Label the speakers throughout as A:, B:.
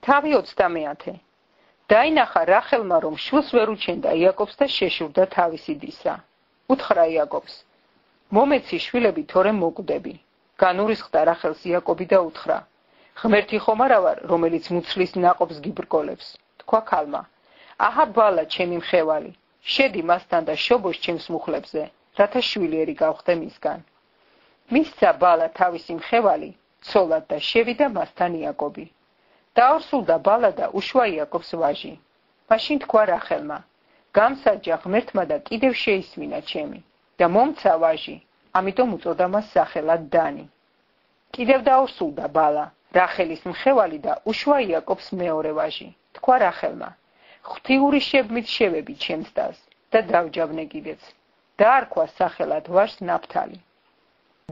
A: თავი 30. დაინახა რახელმა, რომ შვილს ვერ უჩენდა იაკობს და შეშურდა თავისი დისა. უთხრა იაკობს: მომეცი შვილები, თორემ მოკვდები. განურისხდა რახელს იაკობი და უთხრა: ღმერთი ხომ არა ვარ, რომელიც მუცლის ნაყოფს გიბრკოლებს. თქვა ქალმა: აჰა ბალა, ჩემი მხევალი, შედი მასთან და შობოს ჩემს მუხლებზე, რათა შვილიერი გავხდე მისგან. მისცა ბალა თავისი მხევალი, ცოლად და შევიდა მასთან იაკობი. დაორსულდა ბალა და უშვა იაკობს ვაჟი. მაშინ თქვა რახელმა: გამსაჯა ღმერთმა და კიდევ შეისმინა ჩემი და მომცა ვაჟი, ამიტომ უწოდა მას სახელად დანი. კიდევ დაორსულდა ბალა, რახელის მხევალი და უშვა იაკობს მეორე ვაჟი. თქვა რახელმა: ღვთიური შებმით შევები ჩემს დას და დავჯავნე კიდეც. დაარქვა სახელად ვაჟს ნაფთალი.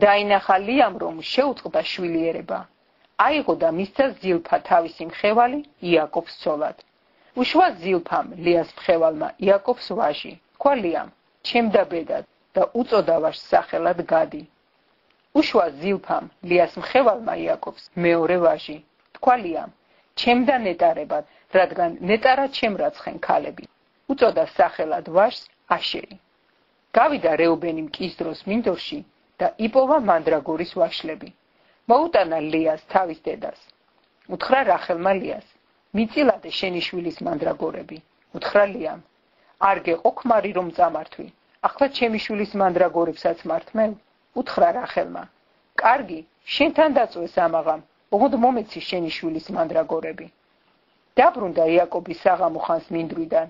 A: დაინახა ლიამ, რომ შეუწყდა შვილიერება. აიღო და მისცა ზილფა თავისი მხევალი იაკობს ცოლად. უშვა ზილფამ ლიას მხევალმა იაკობს ვაჟი. თქვა ლიამ: ჩემ და ბედად და უწოდა ვაჟს სახელად გადი. უშვა ზილფამ ლიას მხევალმა იაკობს მეორე ვაჟი. თქვა ლიამ: ჩემ და ნეტარებად, რადგან ნეტარა ჩემ რაცხენ ქალები. უწოდა სახელად ვაჟს აშერი. გავიდა რეუბენი მკის დროს მინდორში და იპოვა მანდრაგორის ვაშლები. მოუტანა ლიას თავის დედას. უთხრა რახელმა ლიას: მიწილადე შენი შვილის მანდრაგორები. უთხრა ლიამ: არ გეყო ქმარი რომ წამართვი, ახლა ჩემი შვილის მანდრაგორებსაც მართმევ. უთხრა რახელმა: კარგი, შენთან დაწვეს ამაღამ, ოღონდ მომეცი შენი შვილის მანდრაგორები. დაბრუნდა იაკობი საღამო ხანს მინდვრიდან.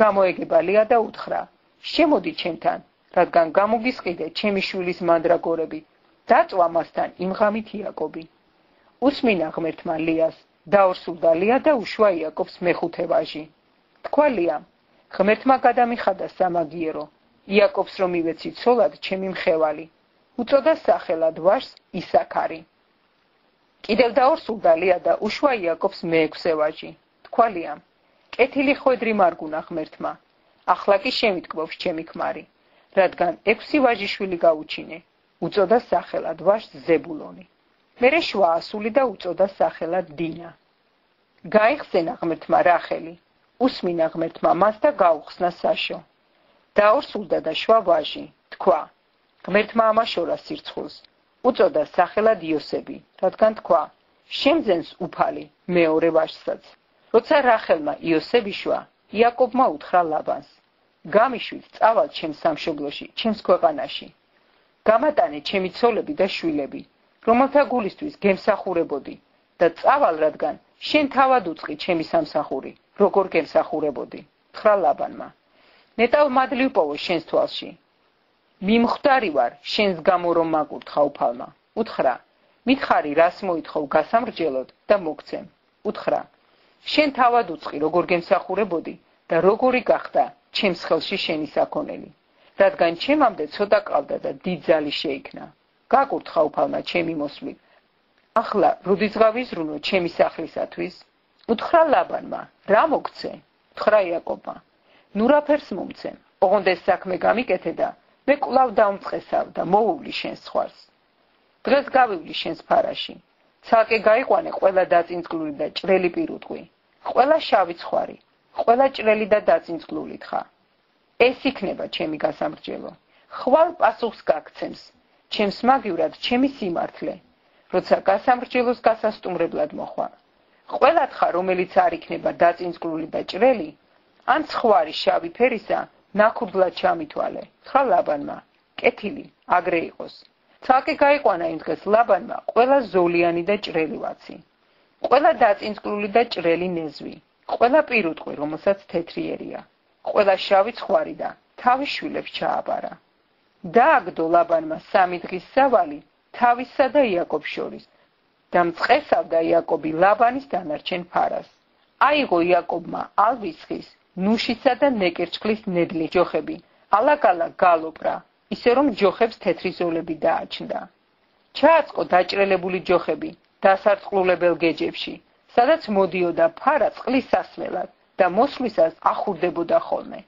A: გამოეგება ლია და უთხრა: შემოდი ჩემთან, რადგან გამოგისყიდე ჩემი შვილის მანდრაგორები. დაწვა მასთან იმ ღამით იაკობი. უსმინა ღმერთმა ლიას, დაორსულდა ლია და უშვა იაკობს მეხუთე ვაჟი. თქვა ლიამ: ღმერთმა გადამიხადა სამაგიერო, იაკობს რომ ივეცი ცოლად ჩემი მხევალი. უწოდა სახელად ვაჟს ისაქარი. კიდევ დაორსულდა ლია და უშვა იაკობს მეექვსე ვაჟი. თქვა ლიამ: კეთილი ხვედრი მარგუნა ღმერთმა, ახლა კი შემიტკბობს ჩემი ქმარი, რადგან 6 ვაჟიშვილი გაუჩინე. უწოდა სახელად ვაჟს ზებულონი. მერე შვა ასული და უწოდა სახელად დინა. გაიხსენა ღმერთმა რახელი, უსმინა ღმერთმა მას და გაუხსნა საშო. დაორსულდა და შვა ვაჟი. თქვა: ღმერთმა ამაშორა სირცხულს. უწოდა სახელად იოსები, რადგან თქვა: შემძენს უფალი მეორე ვაჟსაც. როცა რახელმა იოსები შვა, იაკობმა უთხრა ლაბანს: გამიშვით წავალ ჩემს სამშობლოში, ჩემს ქვეყანაში. გამატანე ჩემი ცოლები და შვილები, რომელთა გულისთვის გემსახურებოდი და წავალ, რადგან შენ თავად უწყი ჩემი სამსახური, როგორ გემსახურებოდი. უთხრა ლაბანმა: ნეტავ მადლი ვპოვო შენს თვალში. მიმხვდარი ვარ შენს გამო რომ მაგურთხა უფალმა. უთხრა: მითხარი რას მოითხოვ გასამრჯელოდ და მოგცემ. უთხრა: შენ თავად უწყი როგორ გემსახურებოდი და როგორი გახდა ჩემს ხელში შენი საქონელი. რადგან ჩემამდე ცოტა ყავდა და დიდძალი შეიქმნა. გაკურთხა უფალმა ჩემი მოსვლით. ახლა რუდის გავიზრუნო ჩემი სახლისათვის. უთხრა ლაბანმა: რა მოგცე? უთხრა იაკობმა: ნუ რაფერს მომცემ, ოღონდ ეს საქმე გამიკეთე და მე კვლავ დავმწყესავ და მოვუვლი შენს ხვარს. დღეს გავივლი შენს ფარაში. ცალკე გაიყვანე ყველა დაწინწკლული და ჭრელი პირუტყვი, ყველა შავი ცხვარი, ყველა ჭრელი და დაწინწკლული თხა. ეს იქნება ჩემი გასამრჯელო. ხვალ პასუხს გაგცემს, ჩემს მაგივრად ჩემი სიმართლე, როცა გასამრჯელოს გასასტუმრებლად მოხვა. ყველა თხა, რომელიც არ იქნება დაწინწკლული და ჭრელი, ან ცხვარი შავი ფერისა, ნაქურდლად ჩამითვალე. თხა ლაბანმა: კეთილი, აგრე იყოს. ცალკე გაიყვანა იმ დღეს ლაბანმა ყველა ზოლიანი და ჭრელი ვაცი, ყველა დაწინწკლული და ჭრელი ნეзвი, ყველა პირუტყვი, რომელსაც თეთრიერია, ყველა შავი ცხვარი და თავის შვილებს ჩააბარა. დააგდო ლაბანმა 3 დღის სავალი თავისა და იაკობს შორის და მწყესავდა იაკობი ლაბანის დანარჩენ ფარას. აიღო იაკობმა ალვისხის, ნუშისა და ნეკერჩხლის ნედლი ჯოხები, ალაგ-ალაგ გალოპრა, ისე რომ ჯოხებს თეთრი ზოლები დააჩნდა. ჩააწყო დაჭრელებული ჯოხები დასარტყლულებელ გეჯებში, სადაც მოდიოდა ფარა წყლის სასმელად და მოსვლისას ახურდებოდა ხოლმე.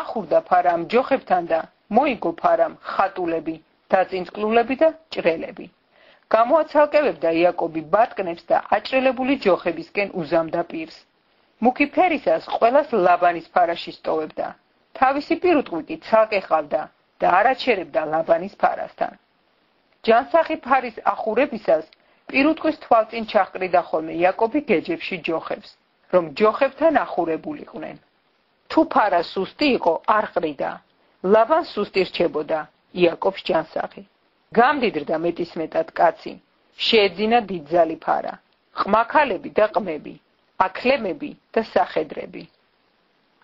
A: ახურდა ფარა ამ ჯოხებთან და მოიგო ფარამ ხატულები, დაწინწკლულები და ჭრელები. გამოაცალკევებდა იაკობი ბატკნებს და აჭრელებული ჯოხებისკენ უზამდა პირს. მუქი ფერისას ყველას ლაბანის ფარაში სტოვებდა. თავისი პირუტყვი კი ცალკე ყავდა და არაჩერებდა ლაბანის ფარასთან. ჯანსაღი ფარის ახურებისას პირუტყვის თვალწინ ჩაჰყრიდა ხოლმე იაკობი გეჯებში ჯოხებს, რომ ჯოხებთან ახურებულიყვნენ. თუ ფარა სუსტი იყო, არ ყრიდა. ლაბანს სუსტი რჩებოდა, იაკობს ჯანსაღი. გამდიდრდა მეტისმეტად კაცი, შეეძინა დიდძალი ფარა, ყმაქალები და ყმები, აქლემები და სახედრები.